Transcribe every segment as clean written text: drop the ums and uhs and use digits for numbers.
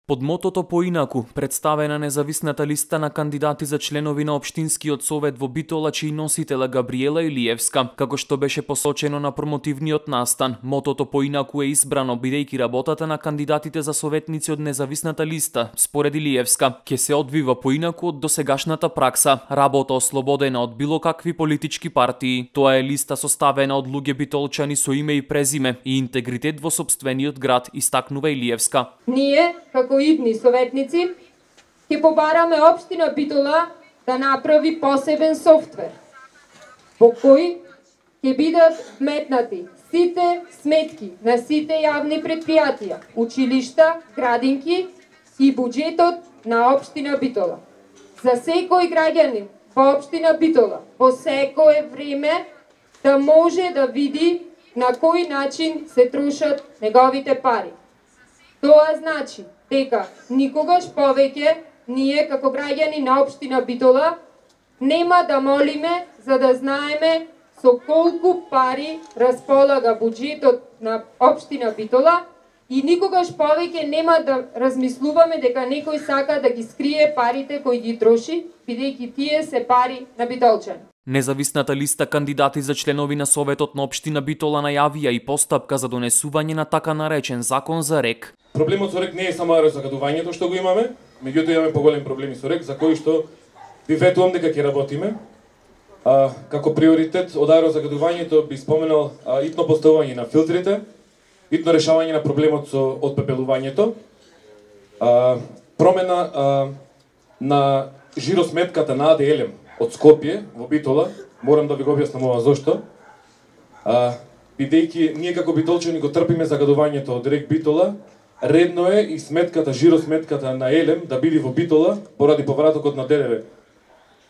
Под мотото поинаку, представена независната листа на кандидати за членови на Општинскиот совет во Битола, чиј носител Габриела Илиевска, како што беше посочено на промотивниот настан, мотото поинаку е избрано бидејќи работата на кандидатите за советници од независната листа, според Илиевска, ќе се одвива поинаку од досегашната пракса, работа ослободена од било какви политички партии. Тоа е листа составена од луѓе битолчани со име и презиме и интегритет во сопствениот град, истакнува Илиевска. Ние, како идни советници, ќе побараме Општина Битола да направи посебен софтвер, во кој ќе бидат вметнати сите сметки на сите јавни предпријатија, училишта, градинки и буџетот на Општина Битола. За секој граѓанин во Општина Битола, во секое време, да може да види на кој начин се трошат неговите пари. Тоа значи дека никогаш повеќе ние како граѓани на Општина Битола нема да молиме за да знаеме со колку пари располага буџетот на Општина Битола и никогаш повеќе нема да размислуваме дека некој сака да ги скрие парите кои ги троши, бидејќи тие се пари на битолчани. Независната листа кандидати за членови на Советот на Општина Битола најавија и постапка за донесување на така наречен закон за РЕК. Проблемот со РЕК не е само аерозагадувањето што го имаме, меѓутоа имаме поголеми проблеми со РЕК, за кои што ви ветувам дека ќе работиме. Како приоритет од аерозагадувањето би споменал итно поставување на филтрите, итно решавање на проблемот со отпепелувањето, промена на жиросметката на АД од Скопје во Битола, морам да ви го објаснам ова зошто. Бидејќи ние како битолчани го трпиме загадувањето од РЕК Битола, редно е и сметката, жиросметката на Елем да биде во Битола поради повратокот на ДДВ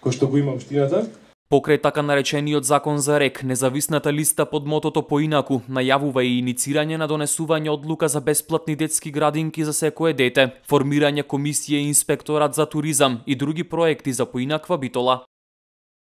кој што го има општината. Покрај така наречениот закон за РЕК, независната листа под мотото поинаку најавува и иницирање на донесување одлука за бесплатни детски градинки за секое дете, формирање комисија и инспекторат за туризам и други проекти за поинаква Битола.